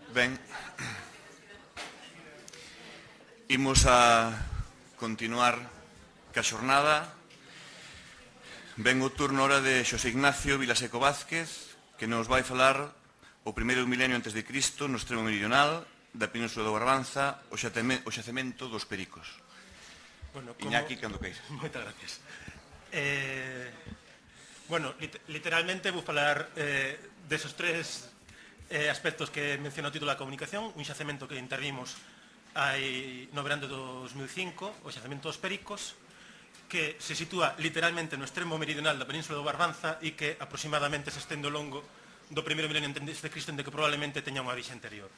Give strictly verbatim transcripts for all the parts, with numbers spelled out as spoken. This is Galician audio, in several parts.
Ben, imos a continuar ca xornada. Ben o turno hora de Xosé Ignacio Vilaseco Vázquez, que nos vai falar o primeiro milenio antes de Cristo no extremo meridional da Península do Barbanza, o xacemento dos Pericos. Bueno, como... Iñaki, cando queis. Moitas gracias. Eh, bueno, lit literalmente vou falar eh, desos tres eh, aspectos que menciono o título da comunicación. Un xacemento que intervimos hai no verán de dos mil cinco, o xacemento dos Pericos, que se sitúa literalmente no extremo meridional da Península do Barbanza e que aproximadamente se estende ao longo do primeiro milenio antes de Cristo, en que probablemente teña unha orixe anterior.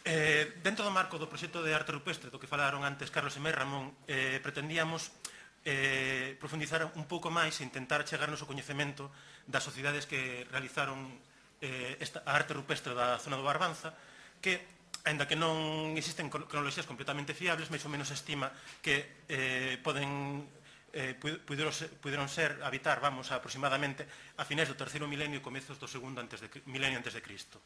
Eh, dentro do marco do proxecto de arte rupestre do que falaron antes Carlos e Ramón, eh, pretendíamos eh, profundizar un pouco máis e intentar chegarnos ao coñecemento das sociedades que realizaron eh, esta, a arte rupestre da zona do Barbanza, que, aínda que non existen cronoloxías completamente fiables, máis ou menos se estima que eh, poden eh, puderon, ser, puderon ser habitar, vamos, aproximadamente a finais do terceiro milenio e comezos do segundo antes de, milenio antes de Cristo.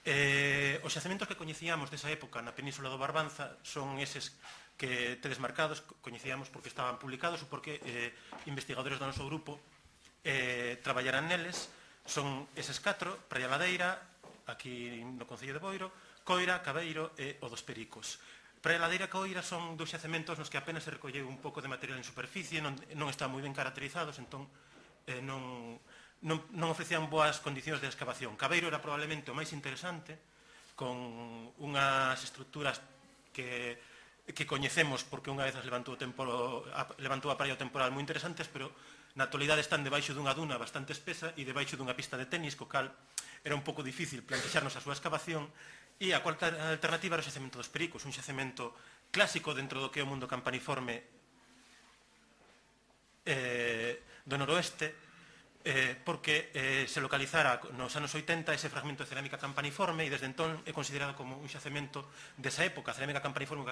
Eh, os xacementos que coñecíamos desa época na Península do Barbanza son eses que tedes marcados, coñecíamos porque estaban publicados ou porque eh, investigadores do noso grupo eh, traballaran neles. Son eses catro: Praia Ladeira, aquí no Concello de Boiro, Coira, Cabeiro e o dos Pericos. Praia Ladeira e Coira son dous xacementos nos que apenas se recolleu un pouco de material en superficie, non, non están moi ben caracterizados, entón eh, non, non, non ofrecían boas condicións de excavación. Cabeiro era probablemente o máis interesante, con unhas estructuras que, que coñecemos porque unha vez as levantou, o tempo, a, levantou a praia temporal moi interesantes, pero na actualidade están debaixo dunha duna bastante espesa e debaixo dunha pista de tenis, co cal era un pouco difícil plantexarnos a súa excavación. E a cuarta alternativa era o xacemento dos Pericos, un xacemento clásico dentro do que é o mundo campaniforme eh, do noroeste, eh, porque eh, se localizara nos anos oitenta ese fragmento de cerámica campaniforme e desde entón é considerado como un xacemento desa época, cerámica campaniforme,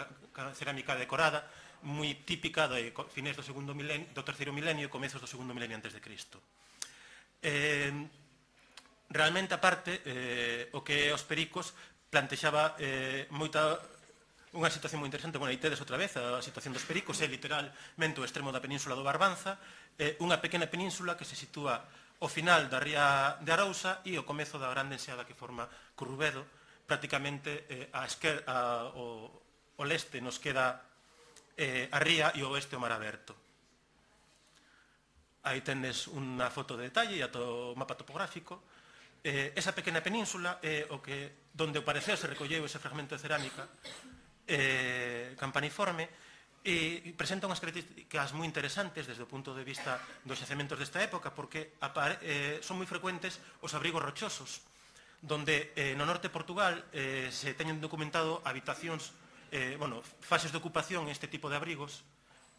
cerámica decorada, moi típica de finais do, segundo milenio, do terceiro milenio e comezos do segundo milenio antes de Cristo. Eh, realmente, aparte, eh, o que é os Pericos plantexaba eh, moita, unha situación moi interesante. Bueno, aí tedes outra vez a situación dos Pericos, é literalmente o extremo da Península do Barbanza, eh, unha pequena península que se sitúa ao final da ría de Arousa e ao comezo da grande enseada que forma Currubedo. Prácticamente eh, a esquer, a, o, o leste nos queda eh, a ría e o oeste o mar aberto. Aí tendes unha foto de detalle e o mapa topográfico. Eh, esa pequena península é eh, o que donde ao parecer se recolleu ese fragmento de cerámica eh, campaniforme e presenta unhas características moi interesantes desde o punto de vista dos xacementos desta época, porque eh, son moi frecuentes os abrigos rochosos, donde eh, no norte de Portugal eh, se teñen documentado habitacións, eh, bueno, fases de ocupación en este tipo de abrigos,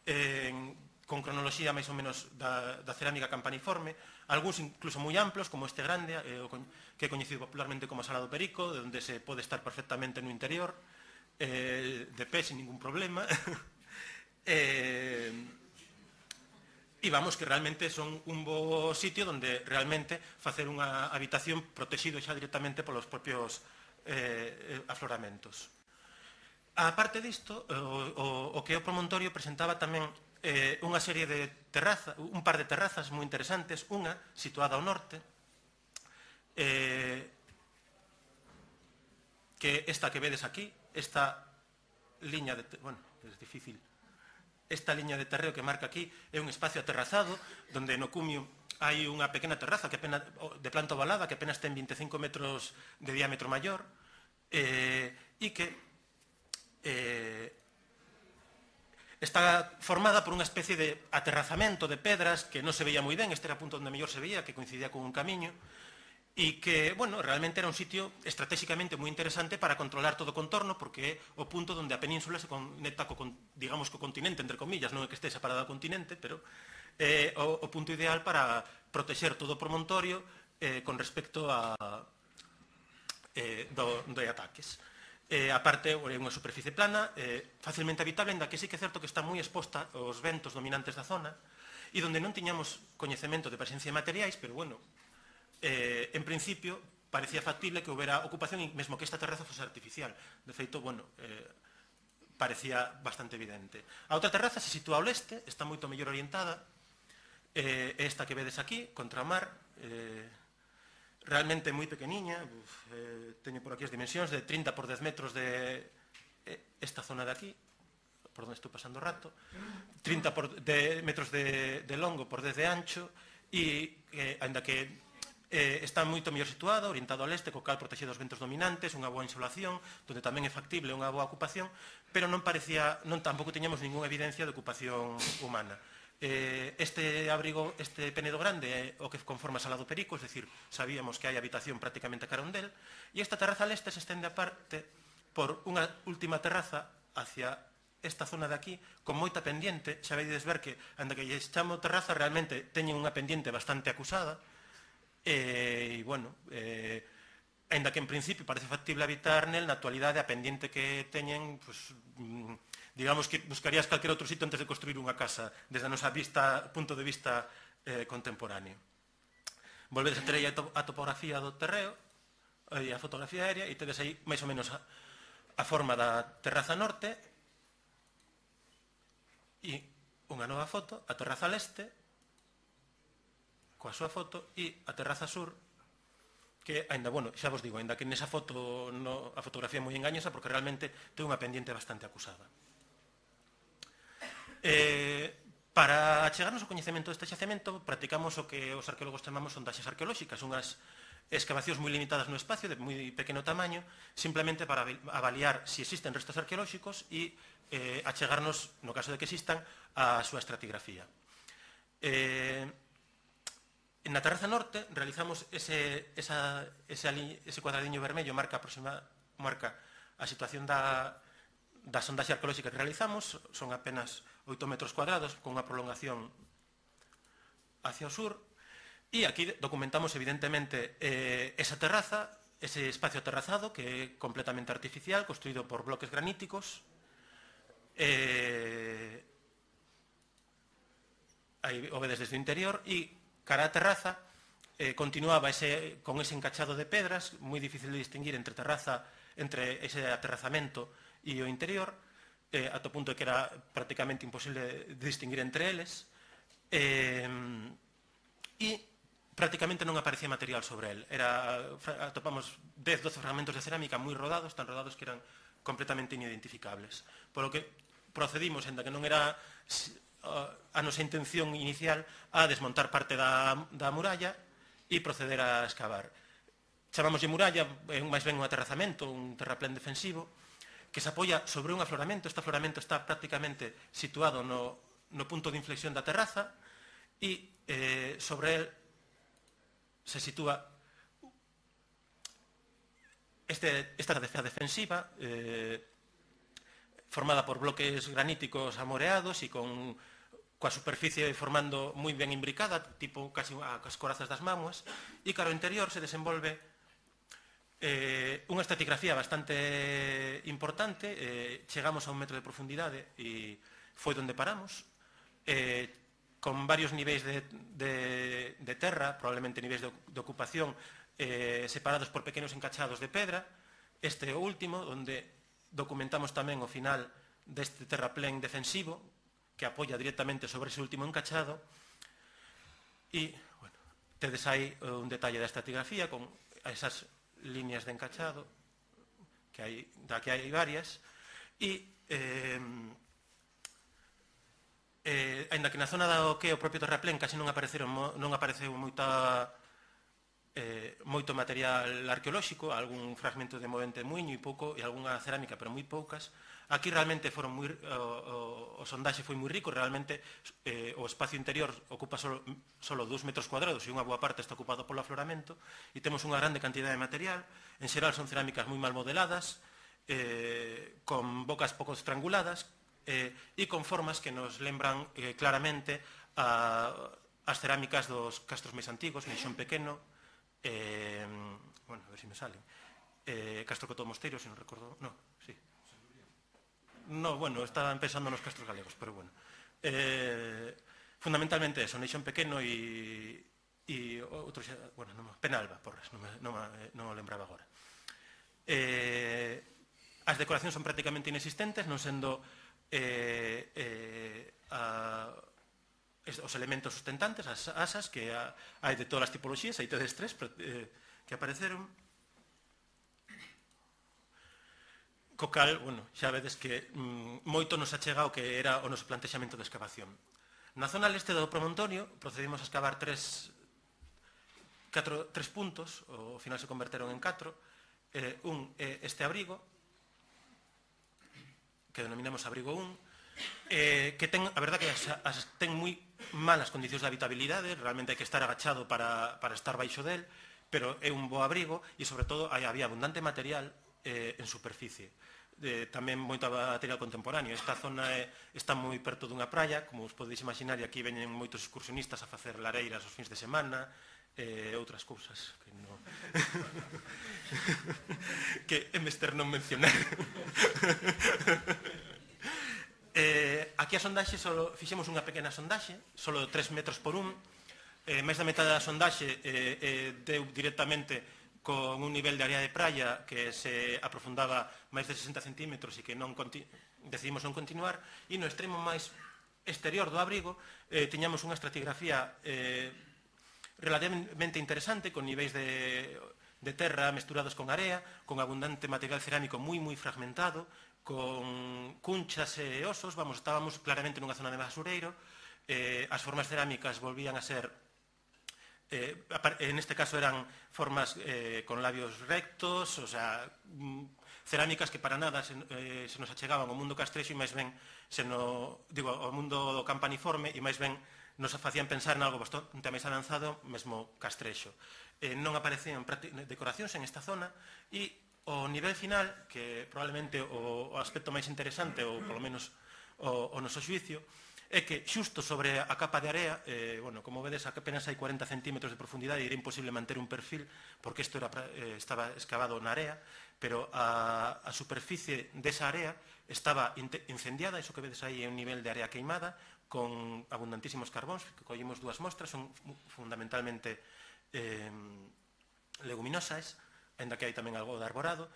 eh, con cronoloxía máis ou menos da, da cerámica campaniforme, algúns incluso moi amplos, como este grande, eh, que é coñecido popularmente como Sala do Perico, onde se pode estar perfectamente no interior, eh, de pé, sin ningún problema. eh, e vamos, que realmente son un bo sitio onde realmente facer unha habitación protegido xa directamente polos propios eh, afloramentos. A parte disto, o, o, o que é o promontorio presentaba tamén eh, unha serie de terrazas, un par de terrazas moi interesantes, unha situada ao norte, eh, que esta que vedes aquí, esta liña de, bueno, é difícil, esta liña de terreo que marca aquí é un espacio aterrazado, donde no cumio hai unha pequena terraza que apenas, de planta ovalada que apenas ten veinticinco metros de diámetro maior, eh, e que Eh, está formada por unha especie de aterrazamento de pedras que non se veía moi ben. Este era o punto onde mellor se veía, que coincidía con un camiño, e que, bueno, realmente era un sitio estratégicamente moi interesante para controlar todo o contorno, porque é o punto onde a península se conecta co, digamos, co continente, entre comillas, non é que este separado do continente, pero é o, o punto ideal para protexer todo o promontorio eh, con respecto a eh, do, de ataques. Eh, a parte, é unha superficie plana, eh, facilmente habitable, ainda que sí que é certo que está moi exposta aos ventos dominantes da zona, e donde non tiñamos coñecemento de presencia de materiais, pero, bueno, eh, en principio, parecía factible que houbera ocupación e mesmo que esta terraza fose artificial. De feito, bueno, eh, parecía bastante evidente. A outra terraza se sitúa ao leste, está moito mellor orientada, eh, esta que vedes aquí, contra o mar, eh, realmente moi pequeniña, uf, eh, teño por aquí as dimensións de trinta por dez metros de eh, esta zona de aquí, por onde estou pasando o rato, trinta por, de, metros de, de longo por dez de ancho, e, eh, ainda que Eh, está moito mellor situado, orientado ao leste, co cal protege dos ventos dominantes, unha boa insolación, donde tamén é factible unha boa ocupación, pero non parecía, non tampouco teñamos ninguna evidencia de ocupación humana. Eh, este abrigo, este Penedo Grande é o que conforma a Sala do Perico, es decir, sabíamos que hai habitación prácticamente a carón del, e esta terraza al este se estende aparte por unha última terraza hacia esta zona de aquí, con moita pendiente. Xa vedes ver que, anda que lle chamo terraza, realmente teñen unha pendiente bastante acusada. E, bueno, eh, ainda que en principio parece factible habitar nel, na actualidade a pendiente que teñen, pues, digamos que buscarías calquer outro sitio antes de construir unha casa, desde a nosa vista, punto de vista eh, contemporáneo. Volvedes a ter aí a, to a topografía do terreo, e a fotografía aérea, e tedes aí máis ou menos a, a forma da terraza norte, e unha nova foto, a terraza leste, coa súa foto, e a terraza sur, que, ainda, bueno, xa vos digo, ainda que nesa foto no, a fotografía é moi engañosa, porque realmente ten unha pendiente bastante acusada. Eh, para achegarnos ao coñecemento deste xacemento, practicamos o que os arqueólogos chamamos sondaxes arqueolóxicas, unhas excavacións moi limitadas no espacio, de moi pequeno tamaño, simplemente para avaliar se existen restos arqueolóxicos e eh, achegarnos, no caso de que existan, a súa estratigrafía. Eh, Na terraza norte realizamos ese, esa, ese, ese cuadradiño vermello, marca, aproxima, marca a situación da, da sondaxe arqueolóxica que realizamos, son apenas oito metros cuadrados, con unha prolongación hacia o sur, e aquí documentamos evidentemente eh, esa terraza, ese espacio aterrazado, que é completamente artificial, construído por bloques graníticos, eh, aí o vedes desde o interior, e cara a terraza eh, continuaba ese, con ese encachado de pedras, moi difícil de distinguir entre terraza, entre ese aterrazamento e o interior, eh, ata o punto de que era prácticamente imposible de distinguir entre eles, eh, e prácticamente non aparecía material sobre el. Era, atopamos dez, doce fragmentos de cerámica moi rodados, tan rodados que eran completamente inidentificables. Por lo que procedimos, enda que non era a nosa intención inicial, a desmontar parte da, da muralla e proceder a excavar. Chamámoslle muralla, é máis ben un aterrazamento, un terraplén defensivo, que se apoia sobre un afloramento. Este afloramento está prácticamente situado no, no punto de inflexión da terraza e eh, sobre el se sitúa este, esta defensa defensiva eh, formada por bloques graníticos amoreados e con coa superficie formando moi ben imbricada, tipo casi as corazas das mámoas, e cara ao interior se desenvolve eh, unha estratigrafía bastante importante. Eh, chegamos a un metro de profundidade e foi onde paramos, eh, con varios niveis de, de, de terra, probablemente niveis de, de ocupación, eh, separados por pequenos encachados de pedra. Este é o último, onde documentamos tamén o final deste terraplén defensivo, que apoia directamente sobre ese último encachado, e, bueno, tedes aí un detalle da estratigrafía con esas líneas de encachado, que hai, da que hai varias, e, eh, eh, ainda que na zona do que o propio terraplén casi non apareceron, non apareceu moita, eh, moito material arqueolóxico, algún fragmento de movente muiño e pouco, e algunha cerámica, pero moi poucas. Aquí realmente foron moi, o, o, o sondaxe foi moi rico, realmente eh, o espacio interior ocupa solo, solo dous metros cuadrados e unha boa parte está ocupado polo afloramento, e temos unha grande cantidade de material. En xeral son cerámicas moi mal modeladas, eh, con bocas pouco estranguladas eh, e con formas que nos lembran eh, claramente a, as cerámicas dos castros máis antigos, Neixón Pequeno, eh, bueno, a ver se me salen, eh, Castro Cotó Mosteiro, se non recordo, no, sí. No, bueno, estaban pensando nos castros galegos, pero bueno. Eh, fundamentalmente eso, Neixón Pequeno e, e e outro xa, bueno, non, Penalba, porras, non, non, non o lembraba agora. Eh, as decoracións son prácticamente inexistentes, non sendo eh, eh, a, os elementos sustentantes, as asas, que a, hai de todas as tipoloxías, hai tedes tres eh, que apareceron. Co cal, bueno, xa vedes que mm, moito nos achega o que era o noso plantexamento de excavación. Na zona leste do promontorio procedimos a excavar tres, catro, tres puntos, ao final se converteron en catro. Eh, un é eh, este abrigo, que denominamos abrigo un, eh, que ten, a verdad que as, as, ten moi malas condicións de habitabilidade, realmente hai que estar agachado para, para estar baixo del, pero é un bo abrigo e, sobre todo, hai, había abundante material eh, en superficie. Eh, tamén moito material contemporáneo. Esta zona é, está moi perto dunha praia, como os podeis imaginar, e aquí veñen moitos excursionistas a facer lareiras os fins de semana, e eh, outras cousas que non que é mester non mencionar. eh, aquí a sondaxe solo fixemos unha pequena sondaxe, solo tres metros por un, eh, máis da metade da sondaxe eh, eh, deu directamente con un nivel de área de praia que se aprofundaba máis de sesenta centímetros e que non decidimos non continuar, e no extremo máis exterior do abrigo eh, tiñamos unha estratigrafía eh, relativamente interesante, con niveis de, de terra mesturados con area, con abundante material cerámico moi moi fragmentado, con cunchas e osos, vamos, estábamos claramente nunha zona de basureiro, eh, as formas cerámicas volvían a ser, eh, en este caso eran formas eh, con labios rectos, o sea, cerámicas que para nada se, eh, se nos achegaban ao mundo castrexo e máis ben, se no, digo, ao mundo do campaniforme, e máis ben nos facían pensar en algo bastante máis avanzado, mesmo castrexo. Eh, non aparecían decoracións en esta zona e o nivel final, que probablemente o, o aspecto máis interesante, ou polo menos o, o noso xuicio, é que xusto sobre a capa de area, eh, bueno, como vedes, apenas hai cuarenta centímetros de profundidade e era imposible manter un perfil, porque isto era, eh, estaba excavado na area, pero a, a superficie desa area estaba incendiada, iso que vedes aí é un nivel de area queimada, con abundantísimos carbóns, que collimos dúas mostras, son fundamentalmente eh, leguminosas, ainda que hai tamén algo de arborado,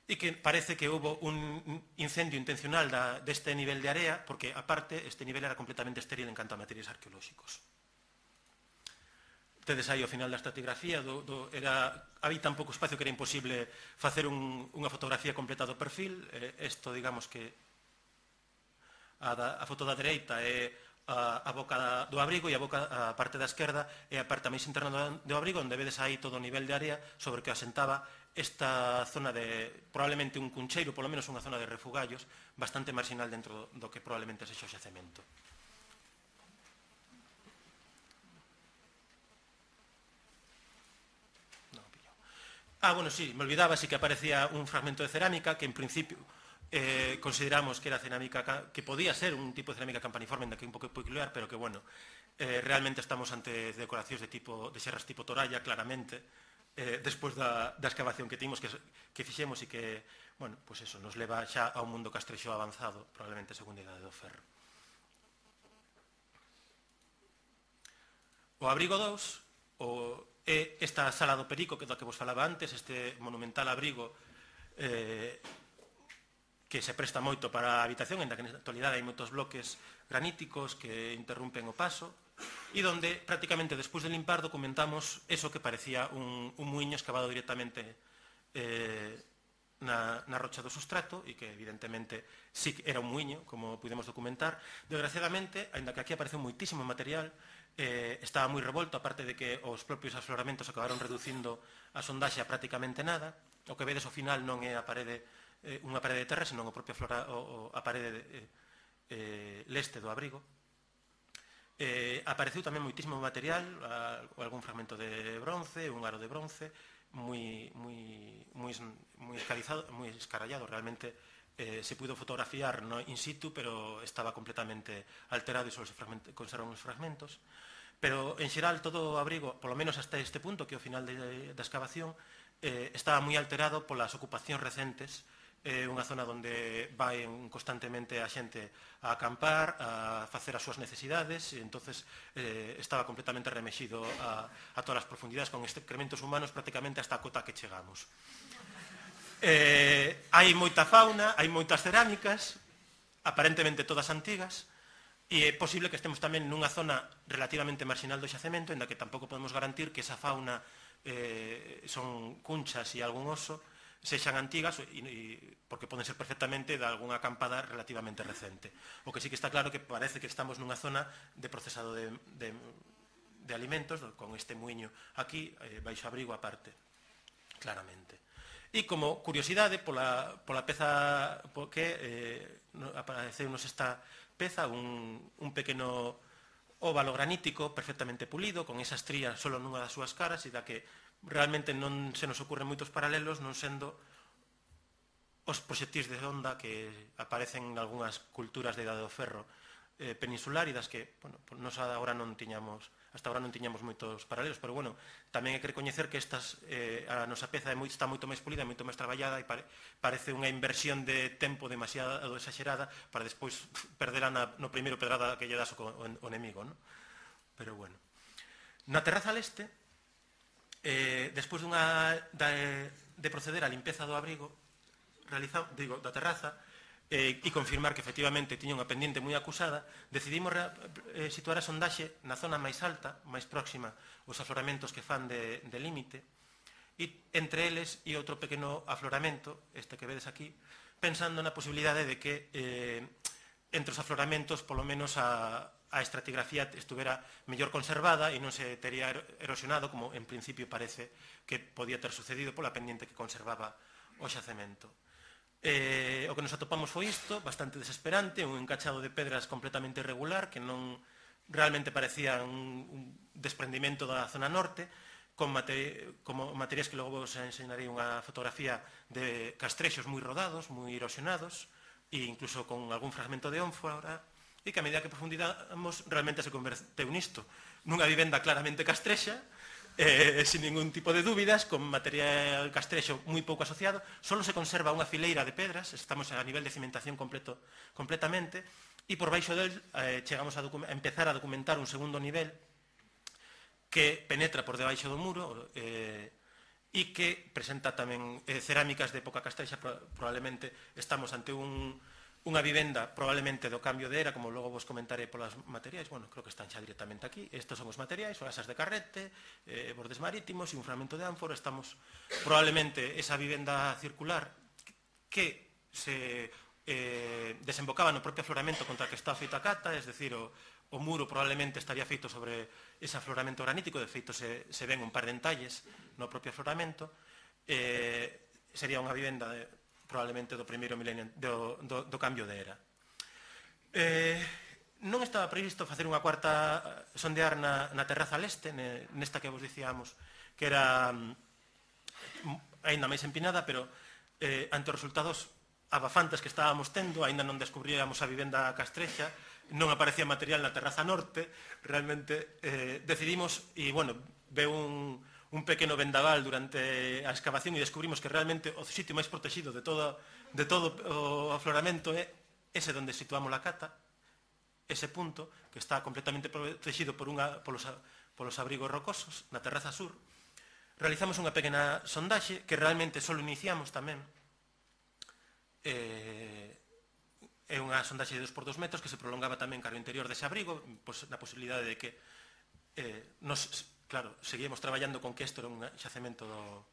e que parece que houve un incendio intencional da, deste nivel de area, porque, aparte, este nivel era completamente estéril en canto a materiais arqueolóxicos. Tedes aí ao final da estratigrafía, do, do, era, había tan pouco espacio que era imposible facer un, unha fotografía completa do perfil. Isto, eh, digamos que a, da, a foto da dereita é a, a boca do abrigo, e a, boca, a parte da esquerda é a parte máis interna do, do abrigo, onde vedes aí todo o nivel de área sobre que asentaba esta zona de, probablemente un cuncheiro, polo menos unha zona de refugallos, bastante marginal dentro do que probablemente sexa o xacemento. Ah, bueno, sí, me olvidaba, sí que aparecía un fragmento de cerámica que en principio eh, consideramos que era cerámica, que podía ser un tipo de cerámica campaniforme, que é un pouco peculiar, pero que, bueno, eh, realmente estamos ante decoracións de tipo de serras tipo toralla, claramente, eh, despois da, da excavación que timos, que, que fixemos e que, bueno, pues eso, nos leva xa a un mundo castrexo avanzado, probablemente a segunda idade do ferro. O abrigo dous, o é esta sala do Perico, que é do que vos falaba antes, este monumental abrigo eh, que se presta moito para a habitación, en da que na actualidade hai moitos bloques graníticos que interrompen o paso, e donde prácticamente despois de limpar documentamos eso que parecía un, un muiño excavado directamente eh, na, na rocha do sustrato, e que evidentemente sí era un muiño, como pudemos documentar. Desgraciadamente, aínda que aquí aparece moitísimo material, eh, estaba moi revolto, aparte de que os propios afloramentos acabaron reducindo a sondaxe a prácticamente nada. O que vedes ao final non é a parede, eh, unha parede de terra, senón o propio flora, o, o, a parede de, eh, eh, leste do abrigo. Eh, apareceu tamén moitísimo material, a, algún fragmento de bronce, un aro de bronce, moi, moi, moi, moi, escarizado, moi escarallado, realmente eh, se pudo fotografiar no in situ, pero estaba completamente alterado e só se conservan os fragmentos. Pero, en xeral, todo o abrigo, polo menos hasta este punto, que é o final de, da excavación, eh, estaba moi alterado polas ocupacións recentes é unha zona onde vai constantemente a xente a acampar, a facer as súas necesidades, e entonces eh, estaba completamente remexido a, a todas as profundidades con excrementos humanos prácticamente hasta a cota que chegamos. Eh, hai moita fauna, hai moitas cerámicas, aparentemente todas antigas, e é posible que estemos tamén nunha zona relativamente marginal do xacemento, en da que tampouco podemos garantir que esa fauna eh, son cunchas e algún oso, sexan antigas, e, e, porque poden ser perfectamente de algunha acampada relativamente recente. O que sí que está claro que parece que estamos nunha zona de procesado de, de, de alimentos, con este muiño aquí, eh, baixo abrigo aparte, claramente. E como curiosidade, pola, pola peza que eh, apareceunos esta peza, un, un pequeno óvalo granítico perfectamente pulido, con esa estría solo nunha das súas caras, e da que realmente non se nos ocurren moitos paralelos, non sendo os proxectís de onda que aparecen en algunhas culturas de Idade do Ferro eh, peninsular, e das que, bueno, nos agora non tiñamos, hasta agora non tiñamos moitos paralelos, pero, bueno, tamén hai que recoñecer que estas, eh, a nosa peza é moi, está moito máis pulida, moito máis traballada, e pare, parece unha inversión de tempo demasiado exagerada para despois perderla na, no primeiro pedrada que lle das o, o, o enemigo, ¿no? Pero, bueno. Na terraza leste, Eh, despois dunha, de, de proceder á limpeza do abrigo realiza, digo, da terraza eh, e confirmar que efectivamente tiña unha pendiente moi acusada, decidimos eh, situar a sondaxe na zona máis alta, máis próxima aos afloramentos que fan de, de límite, e entre eles e outro pequeno afloramento, este que vedes aquí, pensando na posibilidade de que eh, entre os afloramentos polo menos a a estratigrafía estuvera mellor conservada e non se teria erosionado, como en principio parece que podía ter sucedido pola pendiente que conservaba o xacemento. Eh, o que nos atopamos foi isto, bastante desesperante, un encachado de pedras completamente irregular, que non realmente parecía un, un desprendimento da zona norte, con mate, como materiais que logo vos enseñarei unha fotografía de castrexos moi rodados, moi erosionados, e incluso con algún fragmento de ónfora, e que a medida que profundizamos realmente se converteu nisto, nunha vivenda claramente castrexa, eh, sin ningún tipo de dúbidas, con material castrexo moi pouco asociado, solo se conserva unha fileira de pedras, estamos a nivel de cimentación completo, completamente, e por baixo del eh, chegamos a, a empezar a documentar un segundo nivel que penetra por debaixo do muro eh, e que presenta tamén eh, cerámicas de época castrexa. Probablemente estamos ante un unha vivenda probablemente do cambio de era, como logo vos comentaré polas materiais, bueno, creo que están xa directamente aquí. Estos son os materiais, son asas de carrete, eh, bordes marítimos e un fragmento de ánfora. Estamos probablemente esa vivenda circular que se eh, desembocaba no propio afloramento contra que está feita a cata, es decir, o, o muro probablemente estaría feito sobre ese afloramento granítico, de feito se, se ven un par de entalles no propio afloramento. Eh, sería unha vivenda de probablemente do primeiro milenio do, do, do cambio de era. Eh, non estaba previsto facer unha cuarta sondear na, na terraza leste, nesta que vos dicíamos que era um, aínda máis empinada, pero eh, ante os resultados abafantes que estábamos tendo, aínda non descubríamos a vivenda castrexa, non aparecía material na terraza norte, realmente eh, decidimos, e, bueno, veu un un pequeno vendaval durante a excavación e descubrimos que realmente o sitio máis protegido de todo, de todo o afloramento é ese onde situamos a cata, ese punto que está completamente protegido por unha, polos, polos abrigos rocosos na terraza sur. Realizamos unha pequena sondaxe que realmente só iniciamos tamén. Eh, é unha sondaxe de dos por dos metros que se prolongaba tamén cara ao interior dese abrigo, pois, na posibilidade de que eh, nos... Claro, seguíamos traballando con que isto era un xacemento do,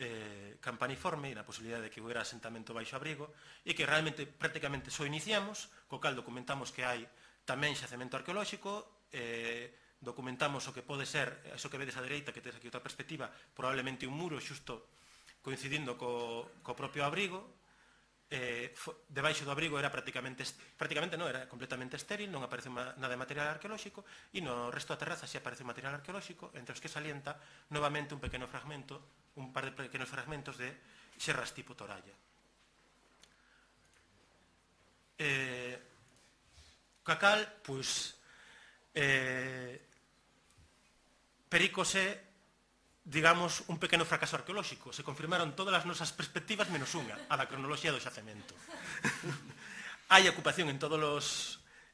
eh, campaniforme e na posibilidade de que hubiera asentamento baixo abrigo e que realmente prácticamente só iniciamos, co cal documentamos que hai tamén xacemento arqueolóxico, eh, documentamos o que pode ser, eso que vedes á dereita, que tedes aquí outra perspectiva, probablemente un muro xusto coincidindo co, co propio abrigo. Eh, debaixo do abrigo era prácticamente, prácticamente non, era completamente estéril, non aparece nada de material arqueolóxico, e no resto da terraza si aparece material arqueolóxico, entre os que salienta novamente un pequeno fragmento, un par de pequenos fragmentos de xerras tipo toralla. Eh, cacal, pois, eh, Pericos é digamos, un pequeno fracaso arqueolóxico. Se confirmaron todas as nosas perspectivas menos unha, a da cronoloxía do xacemento. Hai ocupación en todos os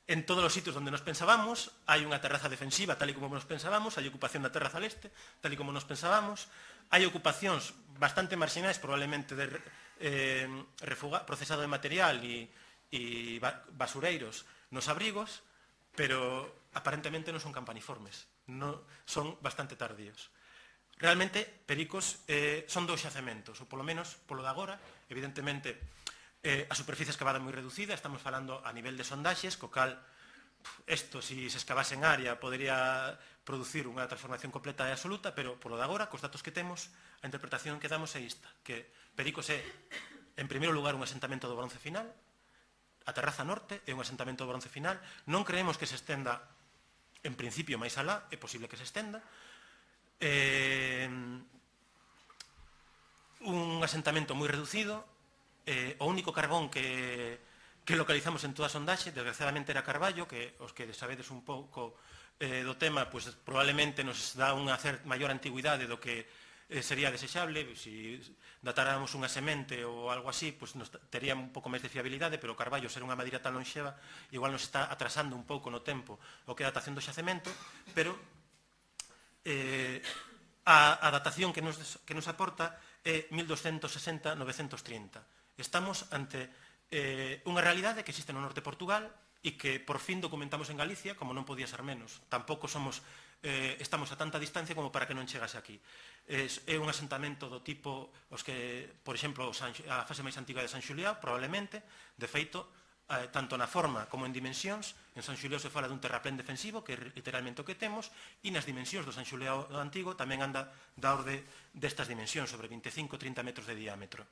en todos os sitios onde nos pensábamos, hai unha terraza defensiva tal e como nos pensábamos, hai ocupación da terraza leste tal e como nos pensábamos, hai ocupacións bastante marxinais, probablemente de eh, refuga, procesado de material e, e basureiros nos abrigos, pero aparentemente non son campaniformes, non, son bastante tardíos. Realmente, Pericos eh, son dous xacementos, ou polo menos, polo de agora, evidentemente, eh, a superficie escavada moi reducida, estamos falando a nivel de sondaxes, co cal, isto, se se escavase en área, podería producir unha transformación completa e absoluta, pero polo de agora, cos datos que temos, a interpretación que damos é esta, que Pericos é, en primeiro lugar, un asentamento do bronce final, a terraza norte é un asentamento do bronce final, non creemos que se estenda, en principio, máis alá, é posible que se estenda, eh, un asentamento moi reducido, eh, o único carbón que, que localizamos en toda a sondaxe, desgraciadamente era Carballo, que os que sabedes un pouco eh, do tema, pues, probablemente nos dá unha maior antigüidade do que eh, sería desexable. Si datáramos unha semente ou algo así, pues, nos tería un pouco máis de fiabilidade, pero Carballo, ser unha madeira tan lonxeva, igual nos está atrasando un pouco no tempo o que é a datación do xacemento, pero eh, a, a datación que nos, que nos aporta é mil doscientos sesenta a novecentos trinta. Estamos ante eh, unha realidade que existe no norte de Portugal e que por fin documentamos en Galicia, como non podía ser menos. Tampouco somos, eh, estamos a tanta distancia como para que non chegase aquí. É, é un asentamento do tipo, os que, por exemplo, a fase máis antiga de San Xuliao, probablemente, de feito, eh, tanto na forma como en dimensións. En San Xuliao se fala dun terraplén defensivo, que é literalmente o que temos, e nas dimensións do San Xuliao antigo tamén anda da orde destas dimensións, sobre veinticinco a trinta metros de diámetro.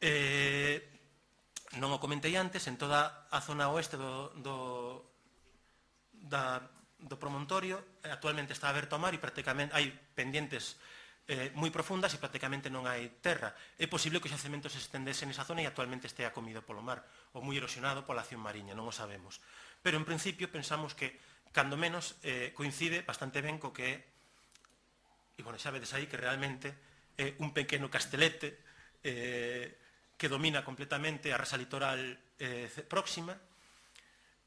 Eh, non o comentei antes, en toda a zona oeste do, do, da, do promontorio actualmente está aberto ao mar e prácticamente hai pendientes eh, moi profundas e prácticamente non hai terra. É posible que o xacemento se estendese nesa zona e actualmente estea comido polo mar ou moi erosionado pola acción mariña, non o sabemos. Pero en principio pensamos que, cando menos, eh, coincide bastante ben co que é, e bueno, xa vedes aí que realmente é un pequeno castelete eh, que domina completamente a rasa litoral eh, próxima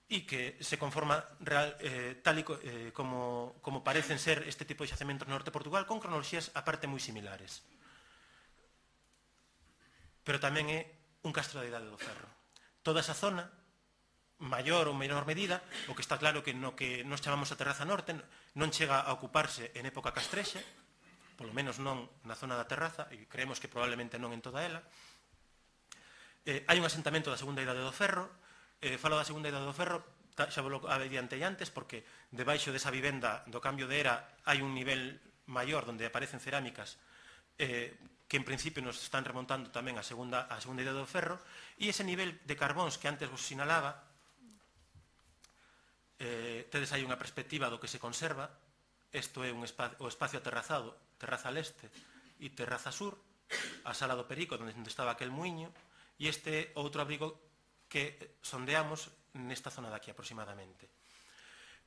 e que se conforma real, eh, tal e co, eh, como, como parecen ser este tipo de xacementos no norte de Portugal, con cronoloxías aparte moi similares. Pero tamén é un castro da Idade do Ferro. Toda esa zona, maior ou menor medida, o que está claro que no que nos chamamos a terraza norte non chega a ocuparse en época castrexa, polo menos non na zona da terraza, e creemos que probablemente non en toda ela. Eh, hai un asentamento da Segunda Idade do Ferro. Eh, falo da Segunda Idade do Ferro, xa vos lo adiantei antes, porque debaixo desa vivenda do cambio de era hai un nivel maior onde aparecen cerámicas eh, que en principio nos están remontando tamén a Segunda, a segunda Idade do Ferro, e ese nivel de carbóns que antes vos sinalaba, eh, tedes aí unha perspectiva do que se conserva. Isto é un espacio, o espacio aterrazado, terraza leste e terraza sur, a sala do Perico, onde estaba aquel muiño, e este outro abrigo que sondeamos nesta zona de aquí aproximadamente.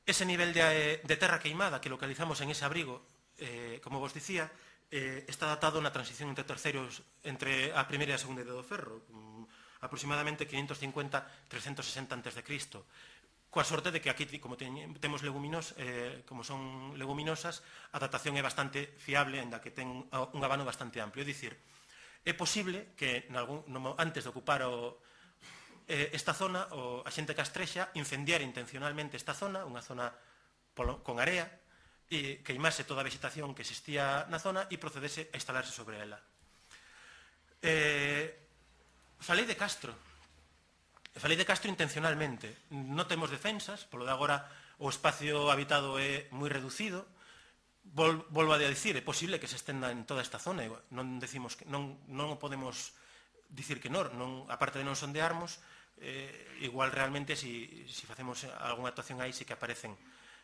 Ese nivel de, de terra queimada que localizamos en ese abrigo, eh, como vos dicía, eh, está datado na transición entre terceros, entre a primeira e a segunda Idade do Ferro, um, aproximadamente quinientos cincuenta a trescentos sesenta antes de Cristo. Coa sorte de que aquí, como ten, temos leguminos, eh, como son leguminosas, a datación é bastante fiable, ainda que ten un abano bastante amplio. É dicir, é posible que nalgún, no, antes de ocupar o, eh, esta zona, o, a xente castrexa incendiara intencionalmente esta zona, unha zona polo, con area, e queimase toda a vegetación que existía na zona e procedese a instalarse sobre ela. Eh, falei de Castro. Falei de Castro intencionalmente. Non temos defensas, polo de agora o espacio habitado é moi reducido. Vol, volvo a dicir, é posible que se estenda en toda esta zona, non decimos que non, non podemos dicir que non, non, aparte de non sondearmos, eh, igual realmente si, si facemos algunha actuación aí sí que aparecen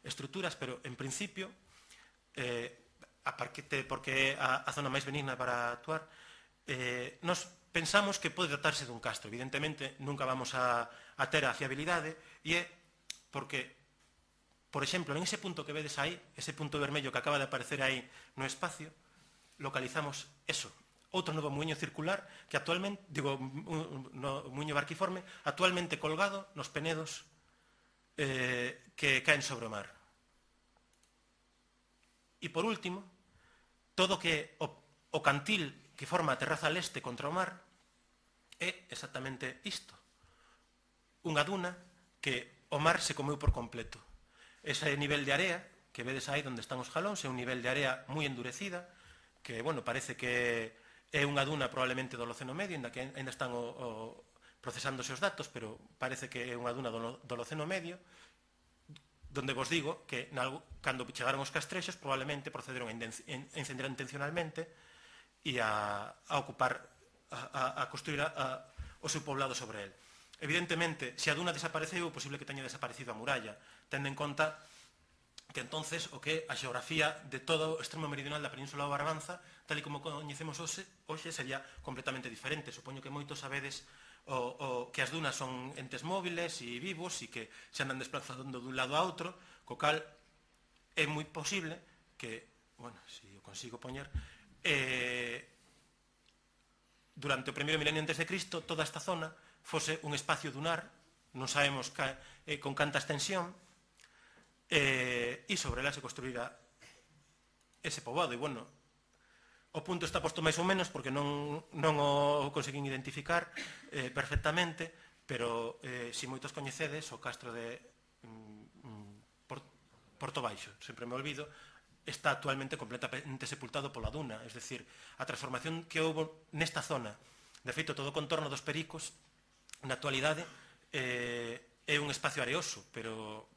estruturas, pero en principio, eh, aparte porque é a, a zona máis benigna para actuar, eh, nos pensamos que pode tratarse dun castro. Evidentemente, nunca vamos a, a ter a fiabilidade, e é porque Por exemplo, en ese punto que vedes aí, ese punto vermello que acaba de aparecer aí no espacio, localizamos eso, outro novo muiño circular que actualmente, digo, no, muiño barquiforme, actualmente colgado nos penedos eh, que caen sobre o mar. E por último, todo que o, o cantil que forma a terraza leste contra o mar é exactamente isto. Unha duna que o mar se comeu por completo. Ese nivel de area que vedes aí onde están os jalóns é un nivel de area moi endurecida que, bueno, parece que é unha duna probablemente do Holoceno Medio, ainda que ainda están o, o, procesándose os datos, pero parece que é unha duna do, do Holoceno Medio, donde vos digo que cando chegaron os castrexos probablemente procederon a encender intencionalmente e a, a ocupar, a, a construir a, a, o seu poblado sobre el. Evidentemente, se a duna desapareceu, é posible que teña desaparecido a muralla, tendo en conta que entonces o que a xeografía de todo o extremo meridional da Península do Barbanza, tal e como coñecemos hoxe, hoxe sería completamente diferente. Supoño que moitos sabedes o, o, que as dunas son entes móviles e vivos e que se andan desplazando dun lado a outro, co cal é moi posible que, bueno, se o consigo poñer, eh, durante o primeiro milenio antes de Cristo toda esta zona fose un espacio dunar, non sabemos ca, eh, con canta extensión, eh, e sobre ela se construirá ese poboado. E, bueno, o punto está posto máis ou menos porque non, non o conseguín identificar eh, perfectamente, pero eh, si moitos coñecedes o castro de mm, Port, Porto Baixo, sempre me olvido, está actualmente completamente sepultado pola duna, es decir, a transformación que houve nesta zona, de feito todo o contorno dos Pericos na actualidade eh, é un espacio areoso, pero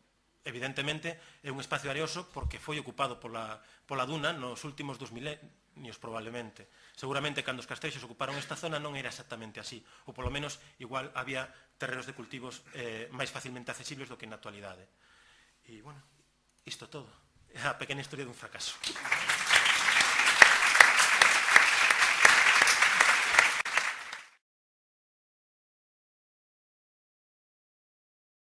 evidentemente é un espacio areoso porque foi ocupado pola, pola duna nos últimos dos milenios probablemente. Seguramente cando os castrexos ocuparon esta zona non era exactamente así, ou polo menos igual había terrenos de cultivos eh, máis facilmente accesibles do que na actualidade. E, bueno, isto todo. É a pequena historia dun fracaso.